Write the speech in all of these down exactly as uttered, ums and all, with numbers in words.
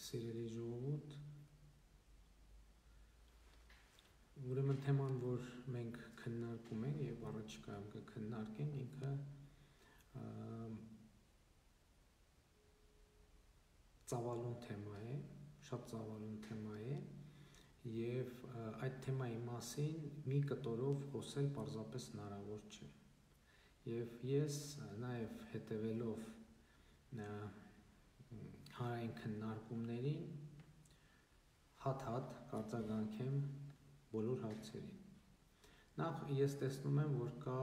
սիրելի ժողովուրդ, ուրեմն թեման, որ մենք քննարկում ենք եւ առաջիկայում կքննարկենք, ինքը ծավալուն թեմա է, շատ ծավալուն թեմա է եւ այդ թեմայի մասին մի կտորով խոսել պարզապես հնարավոր չէ։ Եվ ես նաեւ հետևելով հանրային քննարկումներին հատ-հատ կարձագանքեմ բոլոր հարցերին։ Նախ ես տեսնում եմ, որ կա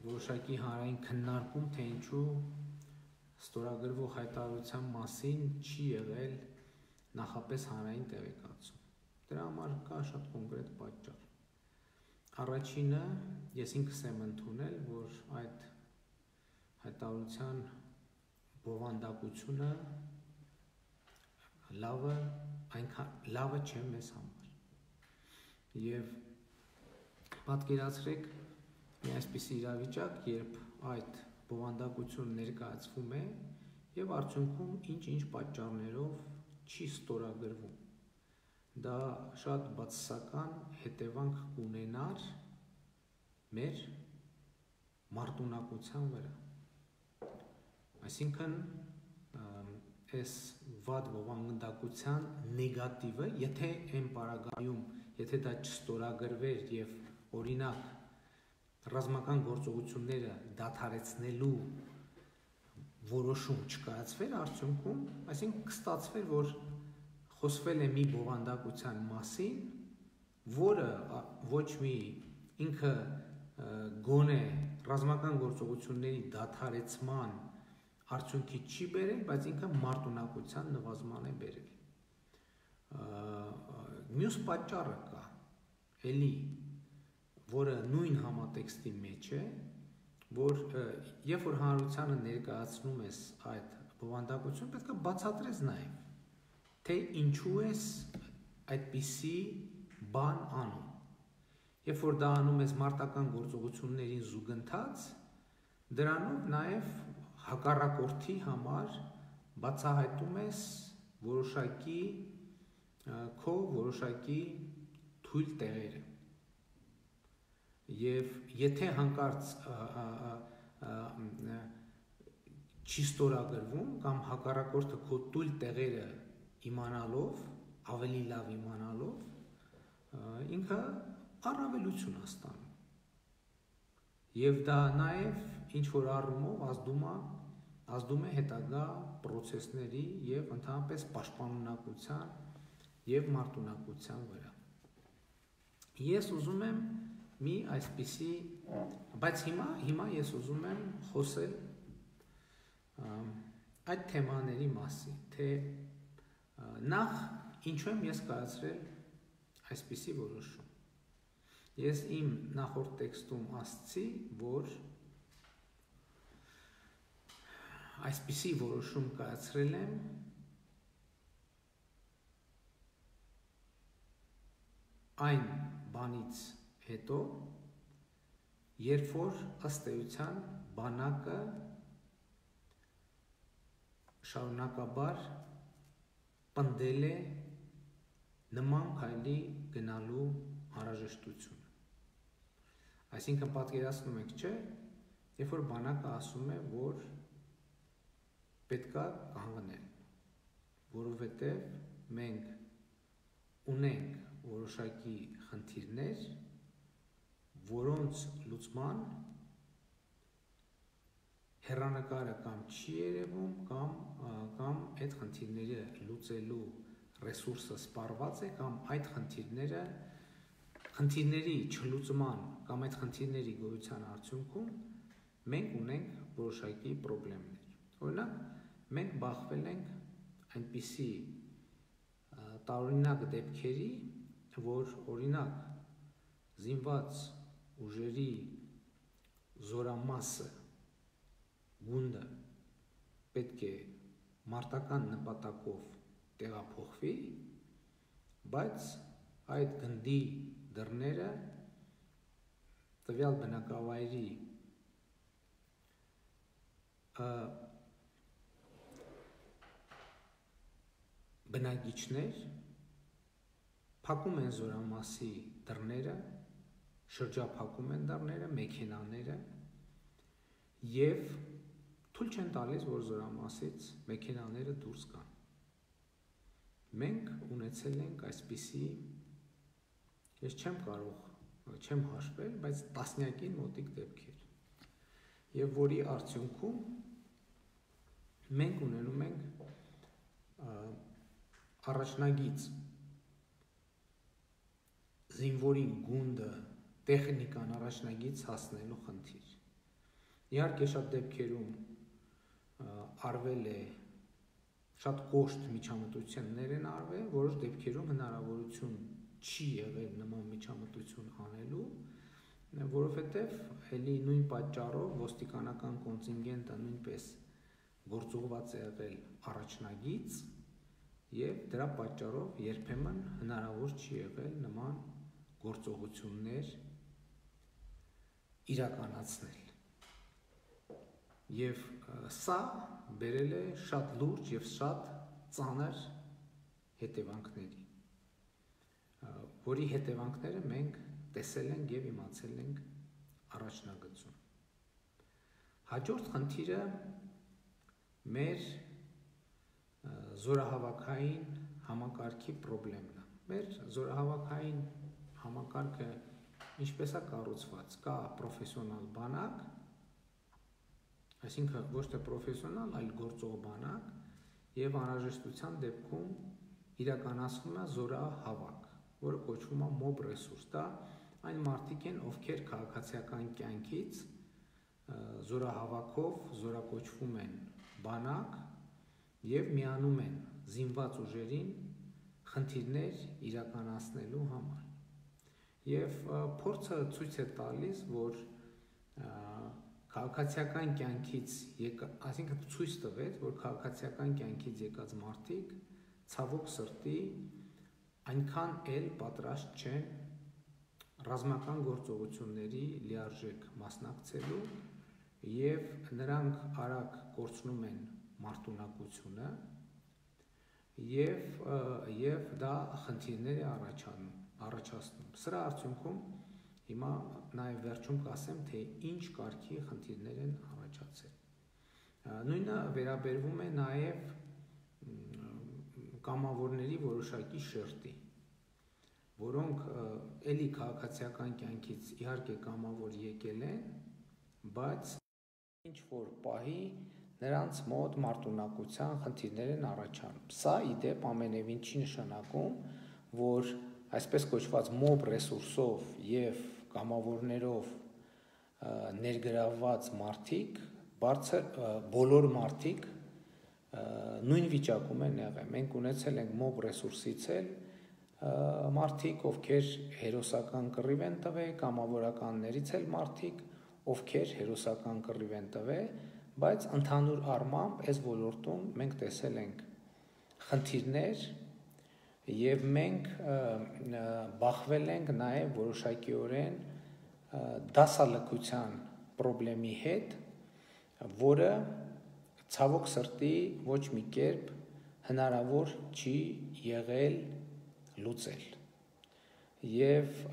որոշակի հանրային քննարկում, թե ինչու ստորագրվող հայտարարության մասին չի եղել նախապես հանրային տեղեկացում։ Դրա համար կա շատ կոնկրետ պատճառ։ Առաջինը, ես ինքս եմ ընդունել, որ այդ հայտարարության բովանդակությունը լավը, այնքան լավը չէ մեզ համար։ Եվ պատկերացրեք մի այսպիսի իրավիճակ, երբ այդ բովանդակությունը ներկայացվում է եւ արդյունքում ինչ-ինչ պատճառներով չի ստորագրվում։ Դա շատ բացասական հետևանք կունենար մեր մարտունակության վրա։ Այսինքն, այս վատ բովանդակության նեգատիվը, եթե այն պարագայում, եթե դա չստորագրվեր եւ օրինակ ռազմական գործողությունները դադարեցնելու որոշում չկայացվեր արդյունքում, այսինքն կստացվեր, որ խոսվել է մի բովանդակության մասին, որը ոչ մի ինքը գոնե ռազմական գործողությունների դադարեցման արդյունքի չի բերել, բայց ինքը մարտունակության նվազման է բերել։ Մյուս պատճառը կա, էլի, որը նույն համատեքստի մեջ է, որ երբ որ հանրությանը ներկայացնում ես այդ բովանդակությունը, պետք է բացատրես նաև, թե ինչու ես այդպիսի բան անում։ Երբ որ դա անում ես մարտական գործողություններին զուգընթաց, դրանով նաև հակառակորդի համար բացահայտում ես որոշակի քո որոշակի թույլ տեղերը։ Եվ եթե հանկարծ չի ստորագրվում կամ հակառակորդը քո թույլ տեղերը իմանալով, ավելի լավ իմանալով, ինքը առավելություն է ստանում։ Եվ դա նաև ինչ որ առումով ազդում է, ազդում է հետագա պրոցեսների եւ ընդհանրապես պաշտպանունակության եւ մարտունակության վրա։ Ես ուզում եմ մի այսպիսի, բայց հիմա հիմա ես ուզում եմ խոսել այդ թեմաների մասին, թե նախ ինչու եմ ես կայացրել այսպիսի որոշում։ Ես իմ նախորդ տեքստում ասացի, որ այսպիսի որոշում կայացրել եմ այն բանից հետո, երբ որ ըստ էության բանակը շարունակաբար պնդել է նման քայլի գնալու անհրաժեշտությունը։ Այսինքն պատկերացնում եք, չէ, երբ որ բանակը ասում է, որ պետք է կանգնել, որովհետև մենք ունենք որոշակի խնդիրներ, որոնց լուծման հեռանկարը կամ չի երևում, կամ կամ այդ խնդիրները լուծելու ռեսուրսը սպառված է, կամ այդ խնդիրները խնդիրների չլուծման կամ այդ խնդիրների գոյության արդյունքում մենք ունենք որոշակի խնդիրներ։ Օրինակ, մենք բախվել ենք այնպիսի տարօրինակ դեպքերի, որ օրինակ զինված ուժերի զորամասը գունդը պետք է մարտական նպատակով տեղափոխվի, բայց այդ գնդի դռները տվյալ բնակավայրի բնակիչներ փակում են զորամասի դռները, շրջափակում են դռները, մեքենաները եւ թույլ չեն տալիս, որ զորամասից մեքենաները դուրս գան։ Մենք ունեցել ենք այսպիսի, ես չեմ կարող, չեմ հաշվել, բայց տասնյակին մոտիկ դեպքեր։ Եվ որի արդյունքում մենք ունենում ենք առաջնագիծ զինվորին գունդը տեխնիկան առաջնագիծ հասնելու խնդիր։ Իհարկե շատ դեպքերում արվել է շատ կոշտ միջամտություններ են արվել, որոշ դեպքերում հնարավորություն չի եղել նման միջամտություն անելու, որովհետև էլի նույն պատճառով ոստիկանական կոնտինգենտը նույնպես գործուղված է եղել առաջնագիծ եւ դրա պատճառով երբեմն հնարավոր չի եղել նման գործողություններ իրականացնել։ Եվ սա բերել է շատ լուրջ եւ շատ ծանր հետևանքների, որի հետևանքները մենք տեսել ենք եւ իմացել ենք առաջնագծում։ Հաջորդ խնդիրը մեր զորահավաքային համակարգի խնդիրն է։ Մեր զորահավաքային համակարգը ինչպես է կառուցված, կա պրոֆեսիոնալ բանակ, այսինքն ոչ թե պրոֆեսիոնալ, այլ գործող բանակ, եւ անհրաժեշտության դեպքում իրականացվում է զորահավաք, որը կոչվում է մոբ ռեսուրս։ Դա այն մարդիկ են, ովքեր քաղաքացիական կյանքից զորահավաքով զորակոչվում են բանակ եւ միանում են զինված ուժերին խնդիրներ իրականացնելու համար։ Եվ փորձը ցույց է տալիս, որ քաղաքացիական կյանքից եկած, այսինքն ցույց տվեց, որ քաղաքացիական կյանքից եկած մարդիկ ցավոք սրտի այնքան էլ պատրաստ չեն ռազմական գործողությունների լիարժեք մասնակցելու եւ նրանք արագ կորցնում են մարտունակությունը եւ եւ դա խնդիրներ է առաջանում, առաջացնում։ Սրա արդյունքում հիմա նաև վերջում կասեմ, թե ինչ կարգի խնդիրներ են առաջացել։ Նույնը վերաբերվում է նաև կամավորների որոշակի շերտի, որոնք էլի քաղաքացիական կյանքից իհարկե կամավոր եկել են, բայց ինչ որ պահի նրանց մոտ մարտունակության խնդիրներ են առաջանում։ Սա ի դեպ ամենևին չի նշանակում, որ այսպես կոչված մոբ ռեսուրսով եւ կամավորներով ներգրավված մարդիկ, բարձր բոլոր մարդիկ նույն վիճակում են եղել։ Մենք ունեցել ենք մոբ ռեսուրսից էլ մարդիկ, ովքեր հերոսական կռիվ են տվել, կամավորականներից էլ մարդիկ, ովքեր հերոսական կռիվ են տվել, բայց ընդհանուր առմամբ այս ոլորտում մենք տեսել ենք խնդիրներ եւ մենք բախվել ենք նաեւ որոշակիորեն դասալքության խնդրի հետ, որը ցավոք սրտի ոչ մի կերպ հնարավոր չի եղել լուծել։ Եվ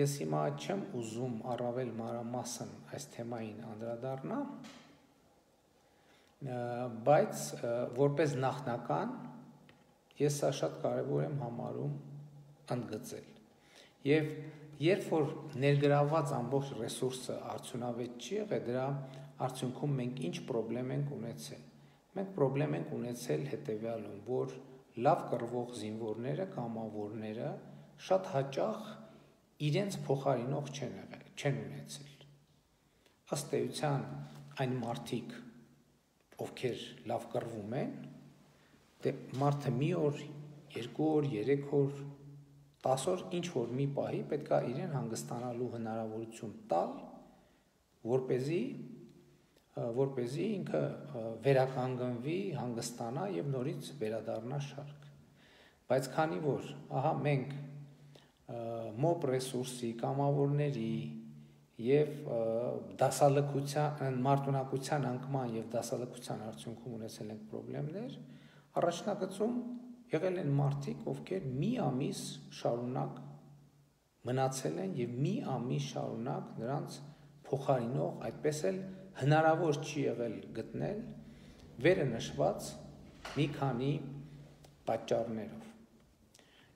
ես հիմա չեմ ուզում առավել մանրամասն այս թեմային անդրադառնալ, բայց որպես նախնական ես սա շատ կարևոր եմ համարում ընդգծել։ Եվ երբ որ ներգրավված ամբողջ ռեսուրսը արդյունավետ չի եղել, դրա արդյունքում մենք ինչ խնդրեմ ենք ունեցել։ Մենք խնդրեմ ենք ունեցել հետևյալում, որ լավ կռվող զինվորները, կամավորները շատ հաճախ իրենց փոխարինող չեն եղել, չեն ունեցել։ Ըստ էության այն մարդիկ, ովքեր լավ կռվում են, դե մարդը մի օր, երկու օր, երեք օր, տաս օր ինչ որ մի պահի պետք է իրեն հանգստանալու հնարավորություն տալ, որպեսզի որպեսզի ինքը վերականգնվի, հանգստանա եւ նորից վերադառնա շարք։ Բայց քանի որ ահա մենք մոբ ռեսուրսի, կամավորների եւ դասալքության, մարտունակության անկման եւ դասալքության արդյունքում ունեցել ենք խնդիրներ, առաջնագծում եղել են մարդիկ, ովքեր մի ամիս շարունակ մնացել են եւ մի ամիս շարունակ նրանց փոխարինող, այդպես էլ հնարավոր չի եղել գտնել վերը նշված մի քանի պատճառներով։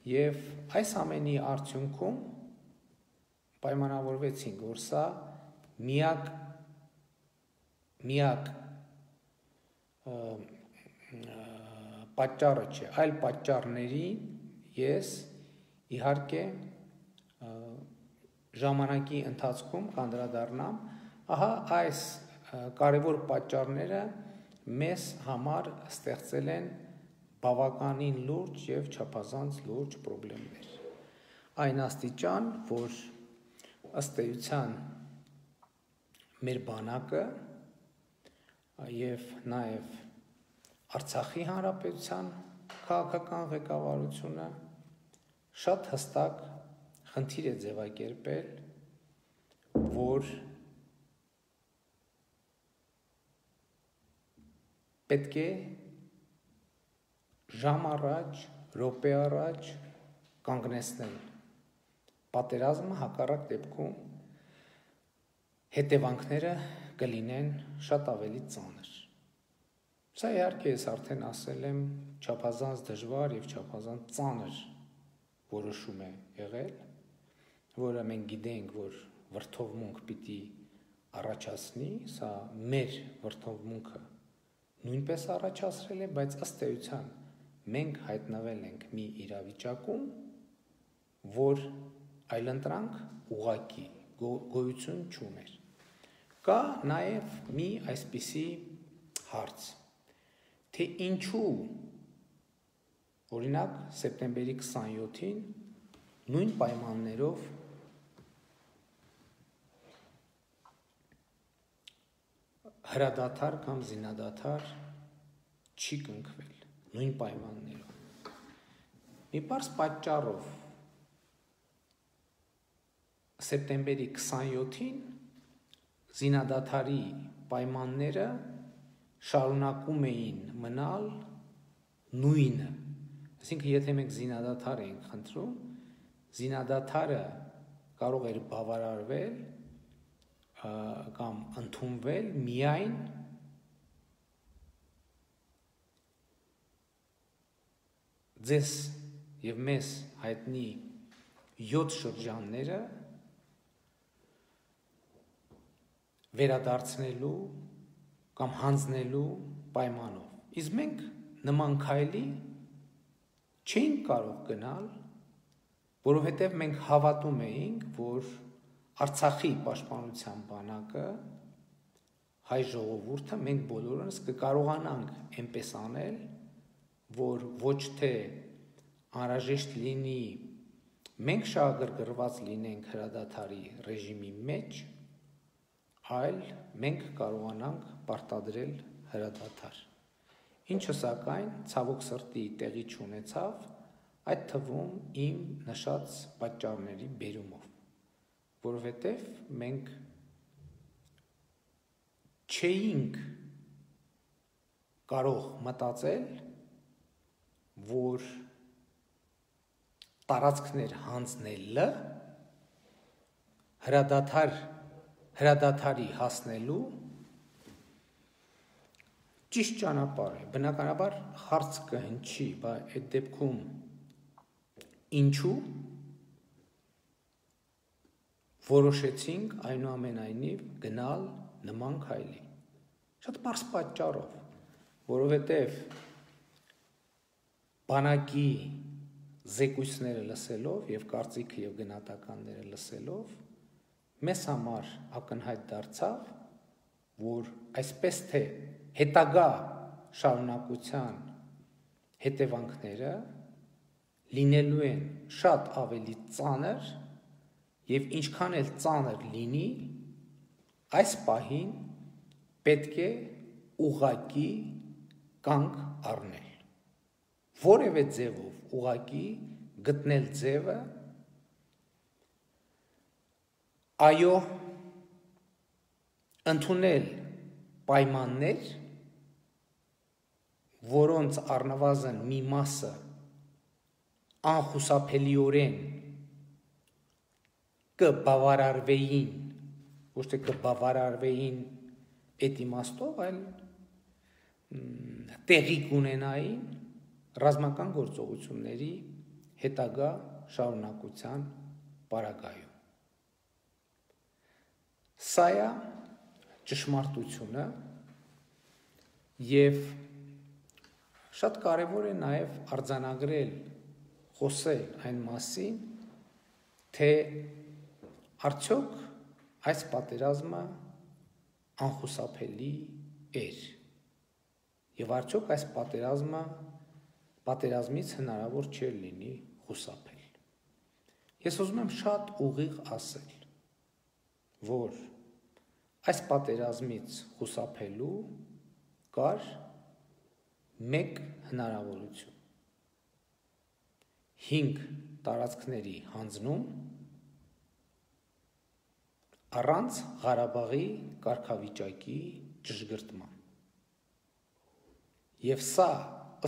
Եվ այս ամենի արդյունքում պայմանավորվեցինք, որ սա միակ միակ պատճառը չէ, այլ պատճառների ես իհարկե ժամանակի ընթացքում կանդրադառնամ, ահա այս կարևոր պատճառները մեզ համար ստեղծել են բավականին լուրջ եւ չափազանց լուրջ խնդիրներ։ Այն աստիճան, որ ըստ էության մեր բանակը եւ նաեւ Արցախի հանրապետության քաղաքական ղեկավարությունը շատ հստակ խնդիր է ձևակերպել, որ պետք է ժամ առաջ, րոպե առաջ կանգնեցնել պատերազմը, հակառակ դեպքում հետևանքները կլինեն շատ ավելի ծանր։ Սա իհարկե ես արդեն ասել եմ չափազանց դժվար եւ չափազանց ծանր որոշում է եղել, որը մենք գիտենք, որ վրդովմունք պիտի առաջացնի, սա մեր վրդովմունքը նույնպես առաջացրել է, բայց ըստ էության մենք հայտնվել ենք մի իրավիճակում, որ այլընտրանք ուղղակի գոյություն չուներ։ Կա նաև մի այսպիսի հարց, թե ինչու օրինակ սեպտեմբերի քսանյոթին նույն պայմաններով հրադադար կամ զինադադար չի կնքվել նույն պայմաններով։ Մի պարզ պատճառով սեպտեմբերի քսանյոթին զինադադարի պայմանները շարունակում էին մնալ նույնը։ Այսինքն, եթե մենք զինադադար ենք խնդրում, զինադադարը կարող էր բավարարվել կամ ընդունվել միայն ձեզ եւ մեզ հայտնի յոթ շրջանները վերադարձնելու կամ հանձնելու պայմանով։ Իսկ մենք նման քայլի չէինք կարող գնալ, որովհետև մենք հավատում էինք, որ Արցախի պաշտպանության բանակը, հայ ժողովուրդը, մենք բոլորս կկարողանանք այնպես անել, որ ոչ թե անհրաժեշտ լինի մենք շահագրգռված լինենք հրադադարի ռեժիմի մեջ, այլ մենք կարողանանք պարտադրել հրադադար։ Ինչը սակայն ցավոք սրտի տեղի չունեցավ, այդ թվում իմ նշած պատճառների բերումով, որովհետև մենք չէինք կարող մտածել, որ տարածքներ հանձնելը հրադադար հրադադարի հասնելու ճիշտ ճանապարհ է։ Բնականաբար հարց կհնչի, բայց այդ դեպքում ինչու որոշեցինք այնուամենայնիվ գնալ նման քայլի։ Շատ պարզ պատճառով, որովհետև բանակի զեկույցները լսելով եւ կարծիքը եւ գնահատականները լսելով մեզ համար ակնհայտ դարձավ, որ այսպես թե հետագա շարունակության հետևանքները լինելու են շատ ավելի ծանր եւ ինչքան էլ ծանր լինի, այս պահին պետք է ուղղակի կանգ առնել։ Որևէ ձևով ուղղակի գտնել ձևը այո ընդունել պայմաններ, որոնց առնվազն մի մասը անխուսափելիորեն կբավարարվեին, ոչ թե կբավարարվեին այդ իմաստով, այլ տեղի կունենային ռազմական գործողությունների հետագա շարունակության պարագայում։ Սա է ճշմարտությունը և շատ կարևոր է նաև արձանագրել, խոսել այն մասին, թե արդյոք այս պատերազմը անխուսափելի էր և արդյոք այս պատերազմը պատերազմից հնարավոր չէր լինի խուսափել։ Ես ուզում եմ շատ ուղիղ ասել, որ այս պատերազմից խուսափելու կար մեկ հնարավորություն՝ հինգ տարածքների հանձնում առանց Ղարաբաղի կարգավիճակի ճշգրտման։ Եվ սա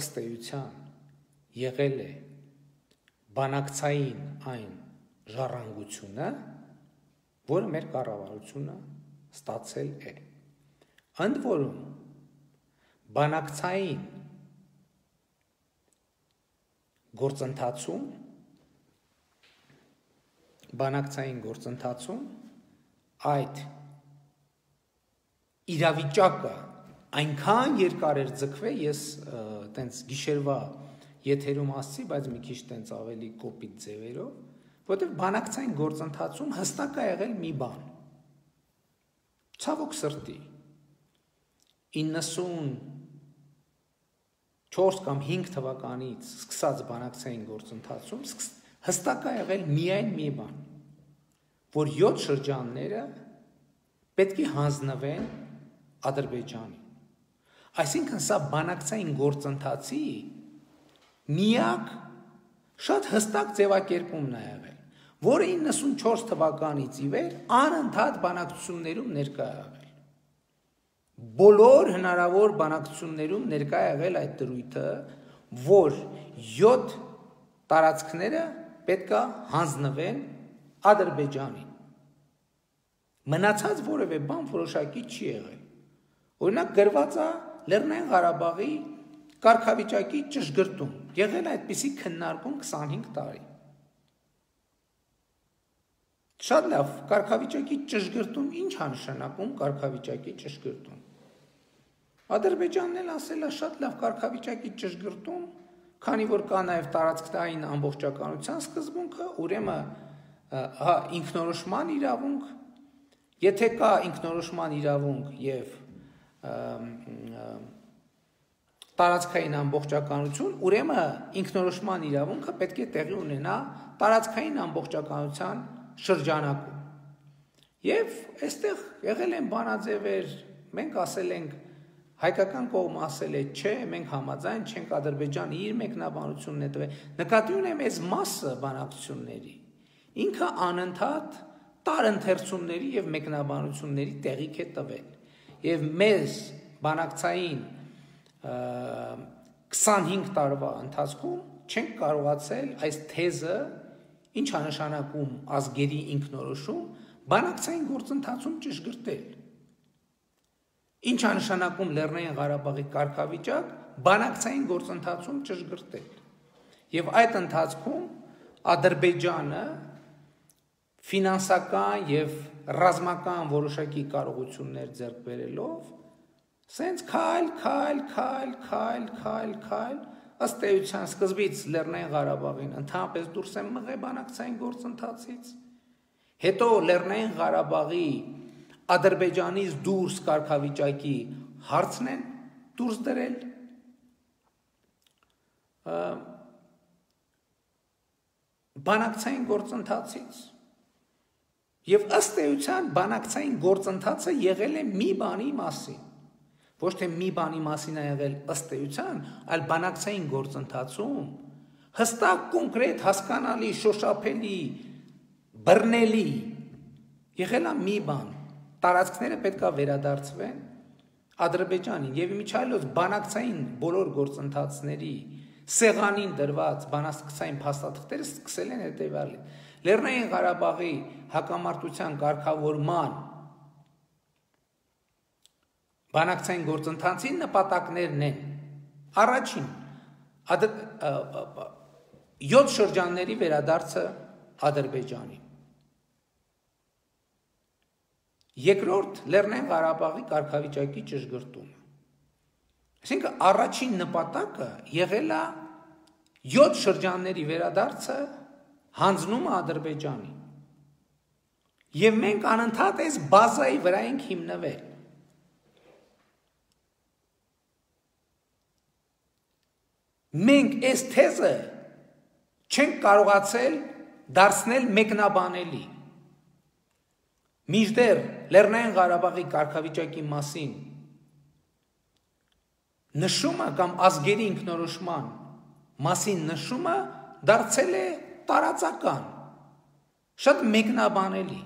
ըստ էության եղել է բանակցային այն ժառանգությունը, որը մեր կառավարությունը ստացել է։ Ընդ որում բանակցային գործընթացում բանակցային գործընթացում այդ իրավիճակը այնքան երկար էր ձգվել, ես տենց գիշերվա եթերում ասացի, բայց մի քիչ տենց ավելի կոպիտ ձևերով, որտեղ բանակցային գործընթացում հստակ է եղել մի բան։ Ցավոք սրտի իննսունչորս կամ հինգ թվականից սկսած բանակցային գործընթացում հստակ է եղել միայն մի բան, որ յոթ շրջանները պետք է հանձնվեն Ադրբեջանին։ Այսինքն սա բանակցային գործընթացի միակ շատ հստակ ձևակերպումն է եղել, որը իննսունչորս թվականից ի վեր անընդհատ բանակցություններում ներկա է եղել։ Բոլոր հնարավոր բանակցություններում ներկա է եղել այդ դրույթը, որ յոթ տարածքները պետք է հանձնվեն Ադրբեջանին։ Մնացած որևէ բան որոշակի չի եղել։ Օրինակ գրված է Լեռնային Ղարաբաղի կարգավիճակի ճշգրտում, եղել այդպիսի քննարկում քսանհինգ տարի։ Շատ լավ, կարգավիճակի ճշգրտում ինչ է նշանակում կարգավիճակի ճշգրտում։ Ադրբեջանն էլ ասել է շատ լավ կարգավիճակի ճշգրտում, քանի որ կա նաև տարածքային ամբողջականության սկզբունքը, ուրեմն հա ինքնորոշման իրավունք, եթե կա ինքնորոշման իրավունք եւ տարածքային ամբողջականություն, ուրեմն ինքնորոշման իրավունքը պետք է տեղի ունենա տարածքային ամբողջականության շրջանակում։ Եվ այստեղ եղել են բանաձևեր, մենք ասել ենք, հայկական կողմը ասել է, չէ, մենք համաձայն չենք, Ադրբեջանը իր մեկնաբանությունն է տվել, նկատի ունեմ այս մասը բանակցությունների, ինքը անընդհատ տարընթերցումների եւ մեկնաբանությունների տեղիք է տվել։ Եվ մեզ բանակցային քսանհինգ տարվա ընթացքում չենք կարողացել այս թեզը, ինչ է նշանակում ազգերի ինքնորոշում, բանակցային գործընթացում ճշգրտել։ Ինչ է նշանակում Լեռնային Ղարաբաղի կարգավիճակ, բանակցային գործընթացում ճշգրտել։ Եվ այդ ընթացքում Ադրբեջանը ֆինանսական եւ ռազմական որոշակի կարողություններ ձեռք բերելով, սենց քայլ, քայլ, քայլ, քայլ, քայլ, քայլ, ըստ էության սկզբից Լեռնային Ղարաբաղին ընդհանրապես դուրս են մղել բանակցային գործընթացից, հետո Լեռնային Ղարաբաղի Ադրբեջանից դուրս կարգավիճակի հարցն են դուրս դրել, բանակցային գործընթացից։ Եվ ըստ էության բանակցային գործընթացը եղել է մի բանի մասին, ոչ թե մի բանի մասին է եղել ըստ էության, այլ բանակցային գործընթացում հստակ կոնկրետ հասկանալի, շոշափելի, բռնելի եղել է մի բան, տարածքները պետք է վերադարձվեն Ադրբեջանին, եւ իմիջիայլոց բանակցային բոլոր գործընթացների սեղանին դրված բանակցային փաստաթղթերը սկսել են հետևյալին. Լեռնային Ղարաբաղի հակամարտության կարգավորման բանակցային գործընթացի նպատակներն են առաջին յոթ շրջանների վերադարձը Ադրբեջանի, երկրորդ Լեռնային Ղարաբաղի կարգավիճակի ճշգրտումը։ Այսինքն առաջին նպատակը եղել է յոթ շրջանների վերադարձը հանձնումը Ադրբեջանի։ Եվ մենք անընդհատ այս բազայի վրա ենք հիմնվել։ Մենք այս թեզը չենք կարողացել դարձնել մեկնաբանելի։ Մինչդեռ Լեռնային Ղարաբաղի կարգավիճակի մասին նշումը կամ ազգերի ինքնորոշման մասին նշումը դարձել է տարածական, շատ մեկնաբանելի։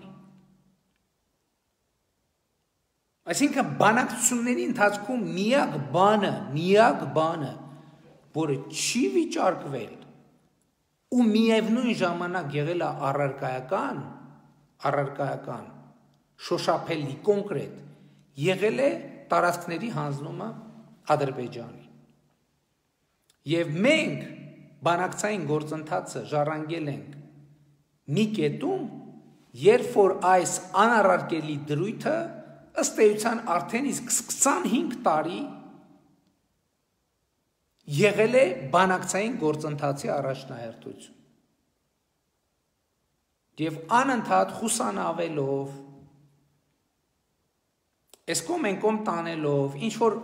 Այսինքն բանակցությունների ընթացքում միակ բանը, միակ բանը, որը չի վիճարկվել ու միևնույն ժամանակ եղել է առարկայական, առարկայական, շոշափելի, կոնկրետ, եղել է տարածքների հանձնումը Ադրբեջանի։ Եվ մենք բանակցային գործընթացը ժառանգել ենք մի կետում, երբ որ այս անառարկելի դրույթը ըստ էության արդեն իսկ քսանհինգ տարի եղել է բանակցային գործընթացի առաջնահերթություն։ Եվ անընդհատ խուսանավելով, այս կողմ են կողմ տանելով, ինչ-որ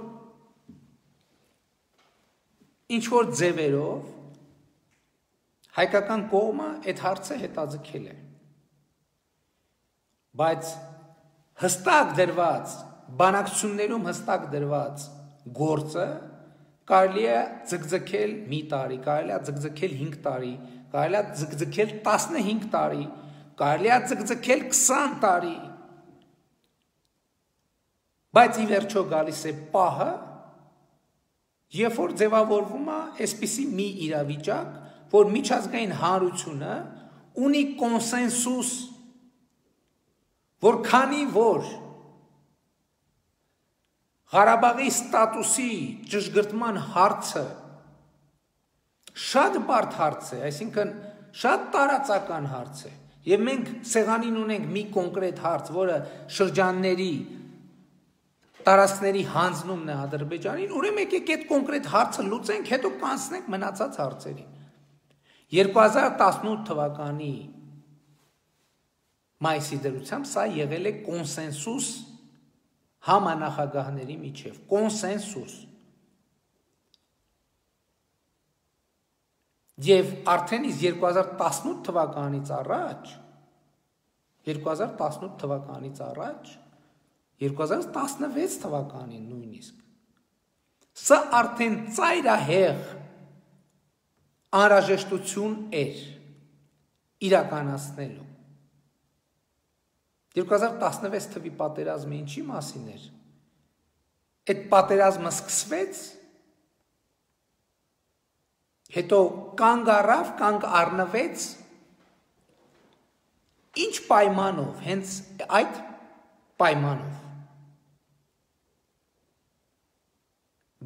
ինչ-որ ձևերով հայկական կողմը այդ հարցը հետաձգել է։ Բայց հստակ դրված, բանակցություններում հստակ դրված գործը կարելի է ձգձգել մի տարի, կարելի է ձգձգել հինգ տարի, կարելի է ձգձգել տասնհինգ տարի, կարելի է ձգձգել քսան տարի։ Բայց ի վերջո գալիս է պահը, երբ որ ձևավորվում է այսպիսի մի իրավիճակ, որ միջազգային հանրությունը ունի կոնսենսուս, որ քանի որ Ղարաբաղի ստատուսի ճշգրտման հարցը շատ բարդ հարց է, այսինքն շատ տարածական հարց է, եւ մենք սեղանին ունենք մի կոնկրետ հարց, որը շրջանների տարածքների հանձնումն է Ադրբեջանին, ուրեմն եկեք այդ կոնկրետ հարցը լուծենք, հետո կանցնենք մնացած հարցերին։ երկու հազար տասնութ թվականի մայիսի դրությամբ սա եղել է կոնսենսուս համանախագահների միջև, կոնսենսուս։ Եվ արդեն իսկ երկու հազար տասնութ թվականից առաջ, երկու հազար տասնութ թվականից առաջ, երկու հազար տասնվեց թվականին նույնիսկ, սա արդեն ծայրահեղ անհրաժեշտություն էր իրականացնելու։ երկու հազար տասնվեց թվականի պատերազմը ինչի մասին էր։ Այդ պատերազմը սկսվեց, հետո կանգ առավ, կանգ առնվեց, ինչ պայմանով, հենց այդ պայմանով։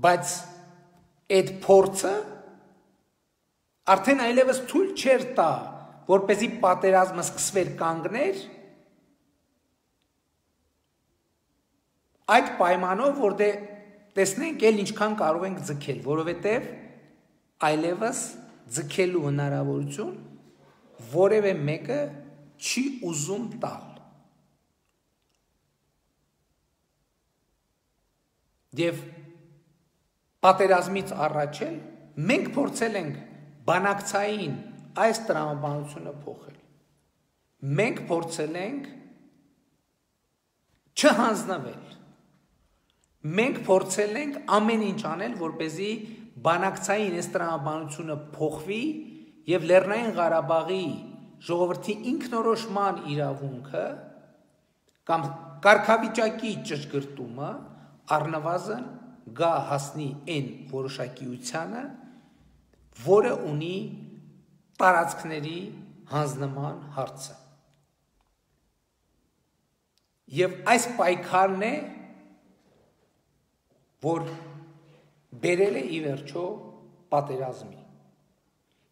Բայց այդ փորձը արդեն այլևս թույլ չէր տա, որպեսզի պատերազմը սկսվեր կանգներ, այդ պայմանով, որ դե տեսնենք էլ ինչքան կարող ենք ձգել, որովհետև այլևս ձգելու հնարավորություն որևէ մեկը չի ուզում տալ։ Եվ պատերազմից առաջ էլ մենք փորձել ենք բանակցային այս տրամաբանությունը փոխել։ Մենք փորձել ենք չհանձնվել։ Մենք փորձել ենք ամեն ինչ անել, որպեսզի բանակցային այս տրամաբանությունը փոխվի եւ Լեռնային Ղարաբաղի ժողովրդի ինքնորոշման իրավունքը կամ կարգավիճակի ճշգրտումը առնվազն գա հասնի այն որոշակիությանը, որը ունի տարածքների հանձնման հարցը։ Եվ այս պայքարն է, որ բերել է ի վերջո պատերազմի։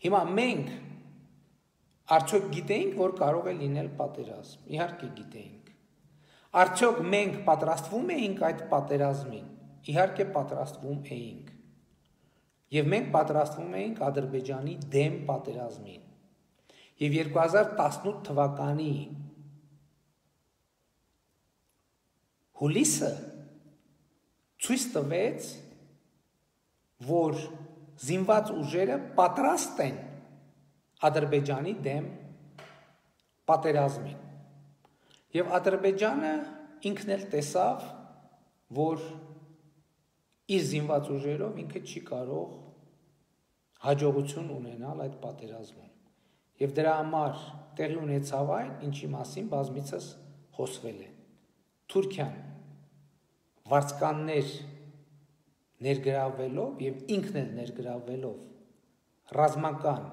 Հիմա մենք արդյոք գիտեինք, որ կարող է լինել պատերազմ։ Իհարկե գիտեինք։ Արդյոք մենք պատրաստվում էինք այդ պատերազմին։ Իհարկե պատրաստվում էինք։ Եվ մենք պատրաստվում էինք Ադրբեջանի դեմ պատերազմին։ Եվ երկու հազար տասնութ թվականի հուլիսը ցույց տվեց, որ զինված ուժերը պատրաստ են Ադրբեջանի դեմ պատերազմին։ Եվ Ադրբեջանը ինքն էլ տեսավ, որ իր զինված ուժերով ինքը չի կարող հաջողություն ունենալ այդ պատերազմում։ Եվ դրա համար տեղի ունեցավ այն, ինչի մասին բազմիցս խոսվել է։ Թուրքիան վարձկաններ ներգրավվելով եւ ինքն էլ ներգրավվելով ռազմական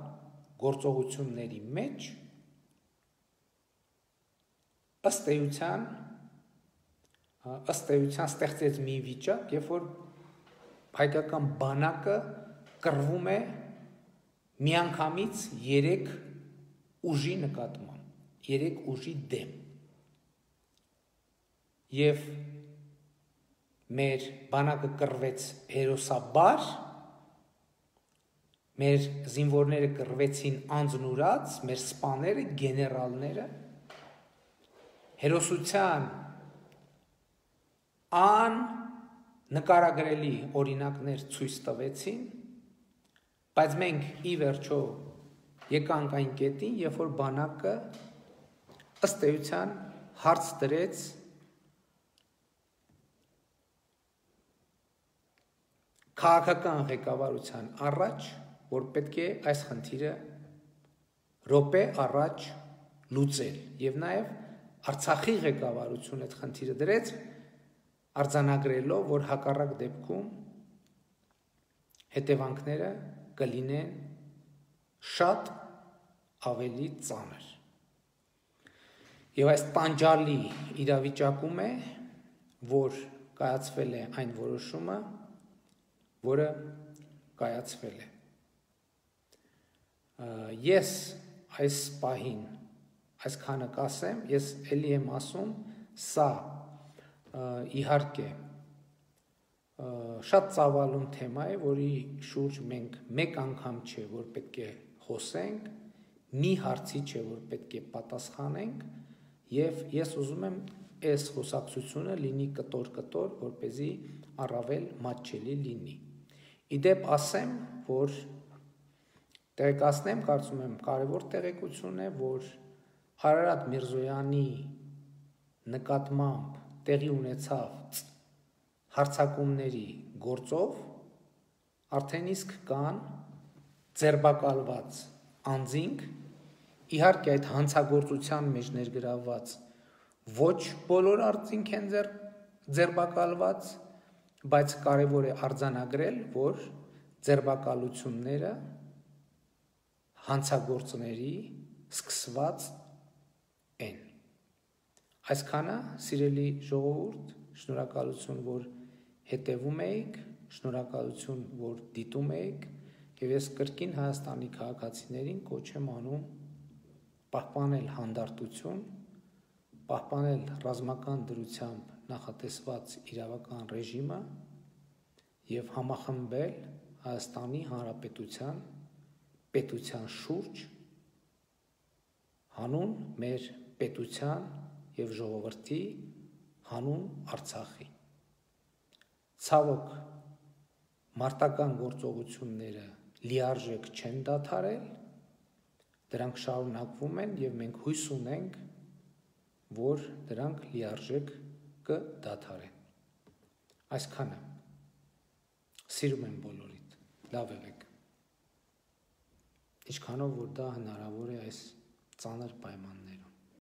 գործողությունների մեջ ըստ էության ըստ էության ստեղծեց մի վիճակ, երբ որ հայկական բանակը կռվում է միանգամից երեք ուժի նկատմամբ, երեք ուժի դեմ։ Եվ մեր բանակը կռվեց հերոսաբար, մեր զինվորները կռվեցին անձնուրաց, մեր սպաները, գեներալները հերոսության ան նկարագրելի օրինակներ ցույց տվեցին, բայց մենք ի վերջո եկանք այն կետին, երբ որ բանակը ըստ էության հարց դրեց քաղաքական ղեկավարության առաջ, որ պետք է այս խնդիրը րոպե առաջ լուծել, եւ նաեւ Արցախի ղեկավարությունը այդ խնդիրը դրեց, արձանագրելով, որ հակառակ դեպքում հետևանքները կլինեն շատ ավելի ծանր։ Եվ այս տանջալի իրավիճակում է, որ կայացվել է այն որոշումը, որը կայացվել է։ Ես այս պահին այսքանը կասեմ, ես էլի եմ ասում, սա իհարկե շատ ծավալուն թեմա է, որի շուրջ մենք մեկ անգամ չէ, որ պետք է խոսենք, մի հարցի չէ, որ պետք է պատասխանենք, եւ ես ուզում եմ այս խոսակցությունը լինի կտոր-կտոր, որպեսզի առավել մատչելի լինի։ Իդեպ ասեմ, որ տեղեկացնեմ, կարծում եմ կարևոր տեղեկություն է, որ Արարատ Միրզոյանի նկատմամբ տեղի ունեցավ հարձակումների գործով արդեն իսկ կան ձերբակալված անձինք, իհարկե այդ հանցագործության մեջ ներգրավված ոչ բոլոր անձինք են ձերբակալված, բայց կարևոր է արձանագրել, որ ձերբակալությունները հանցագործների սկսված են։ Այսքանը, սիրելի ժողովուրդ, շնորհակալություն, որ հետևում եք, շնորհակալություն, որ դիտում եք, եւ ես կրկին Հայաստանի քաղաքացիներին կոչ եմ անում պահպանել հանդարտություն, պահպանել ռազմական դրությամբ նախատեսված իրավական ռեժիմը եւ համախմբել Հայաստանի Հանրապետության պետության շուրջ հանուն մեր պետության եւ ժողովրդի, հանուն Արցախի։ Ցավոք, մարտական գործողությունները լիարժեք չեն դադարել, դրանք շարունակվում են եւ մենք հույս ունենք, որ դրանք լիարժեք կդադարեն։ Այսքանը։ Սիրում եմ բոլորիդ, լավ եղեք։ Ինչքանով որ դա հնարավոր է այս ծանր պայմաններ